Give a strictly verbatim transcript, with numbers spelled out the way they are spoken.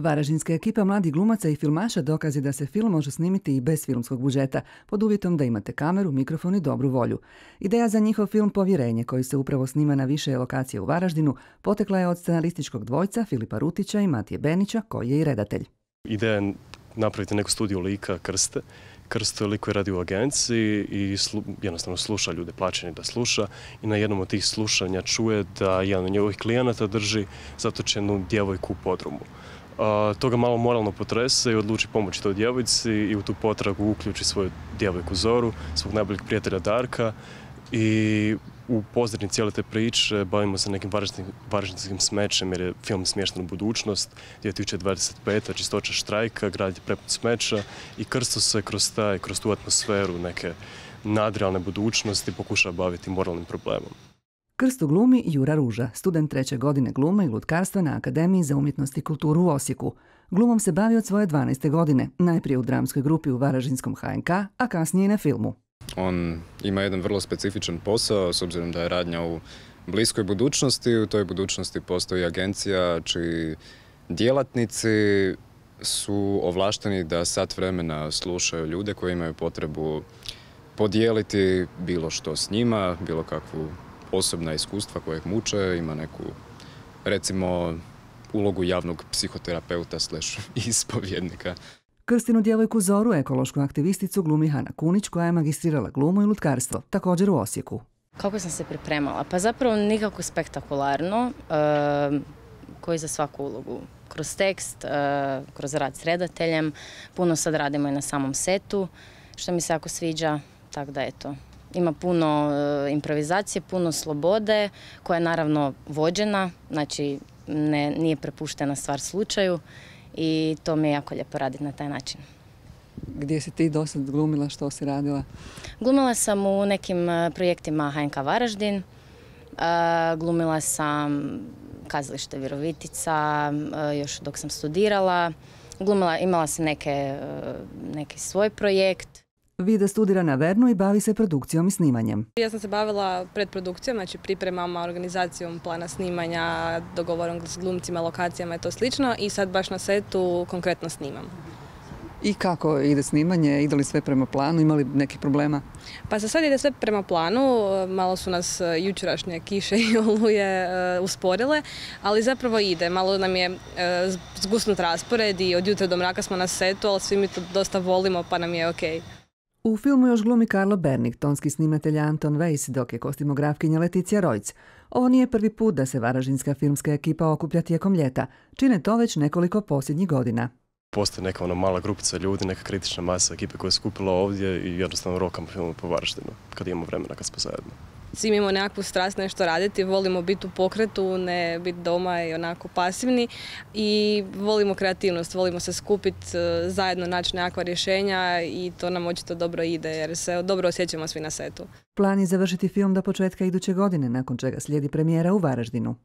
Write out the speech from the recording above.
Varaždinska ekipa mladih glumaca i filmaša dokaz je da se film može snimiti i bez filmskog budžeta, pod uvjetom da imate kameru, mikrofon i dobru volju. Ideja za njihov film Povjerenje, koji se upravo snima na više lokacije u Varaždinu, potekla je od scenarističkog dvojca Filipa Rutića i Matije Benića, koji je i redatelj. Ideja je napraviti neku studiju lika Krste. Krsto je lik koji radi u agenciji i slu, jednostavno sluša ljude, plaćeni da sluša, i na jednom od tih slušanja čuje da jedan od njegovih klijenata drži zatočenu djevojku u podrumu. Uh, to ga malo moralno potrese i odluči pomoći toj djevojci i u tu potragu uključi svoju djevojku Zoru, svog najboljeg prijatelja Darka, i u pozadini cijele te priče bavimo se nekim varaždinskim smećem, jer je film smješten u budućnost, dvije tisuće dvadeset peta. čistoća štrajka, grad je prepun smeća i Krsto se kroz, taj, kroz tu atmosferu neke nadrealne budućnosti pokušava baviti moralnim problemom. Krstu glumi Jura Ruža, student treće godine glume i lutkarstva na Akademiji za umjetnost i kulturu u Osijeku. Glumom se bavi od svoje dvanaeste godine, najprije u dramskoj grupi u Varaždinskom H N K, a kasnije i na filmu. On ima jedan vrlo specifičan posao, s obzirom da je radnja u bliskoj budućnosti. U toj budućnosti postoji agencija čiji djelatnici su ovlašteni da sat vremena slušaju ljude koji imaju potrebu podijeliti bilo što s njima, bilo kakvu osobna iskustva koje ih muče, ima neku, recimo, ulogu javnog psihoterapeuta slash ispovjednika. Krstinu djevojku Zoru, ekološku aktivisticu, glumi Hana Kunić, koja je magistrirala glumu i lutkarstvo, također u Osijeku. Kako sam se pripremala? Pa zapravo nikako spektakularno, e, koji za svaku ulogu. Kroz tekst, e, kroz rad s redateljem, puno sad radimo i na samom setu, što mi se jako sviđa, tako da eto. Ima puno e, improvizacije, puno slobode, koja je naravno vođena, znači ne, nije prepuštena stvar slučaju. I to mi je jako lijepo raditi na taj način. Gdje si ti do sad glumila, što si radila? Glumila sam u nekim projektima H N K Varaždin, glumila sam kazalište Virovitica, još dok sam studirala, glumila, imala sam neke, neki svoj projekt. Vida studira na Vernu i bavi se produkcijom i snimanjem. Ja sam se bavila predprodukcijom, znači pripremama, organizacijom plana snimanja, dogovorom s glumcima, lokacijama i to slično, i sad baš na setu konkretno snimam. I kako ide snimanje? Ide li sve prema planu? Ima li nekih problema? Pa za sad ide sve prema planu, malo su nas jučerašnje kiše i oluje usporile, ali zapravo ide. Malo nam je zgusnut raspored i od jutra do mraka smo na setu, ali svi mi to dosta volimo pa nam je okej. U filmu još glumi Karlo Bernik, tonski snimatelj Anton Weiss, dok je kostimografkinja Leticija Rojc. Ovo nije prvi put da se varaždinska filmska ekipa okuplja tijekom ljeta. Čine to već nekoliko posljednjih godina. Postoji neka ona mala grupica ljudi, neka kritična masa ekipe koja je skupila ovdje i jednostavno rokamo film po Varaždinu, kad imamo vremena, kad smo zajedno. Svi imamo nekakvu strast nešto raditi, volimo biti u pokretu, ne biti doma i onako pasivni, i volimo kreativnost, volimo se skupiti, zajedno naći nekakva rješenja, i to nam očito dobro ide jer se dobro osjećamo svi na setu. Plan je završiti film do početka iduće godine, nakon čega slijedi premijera u Varaždinu.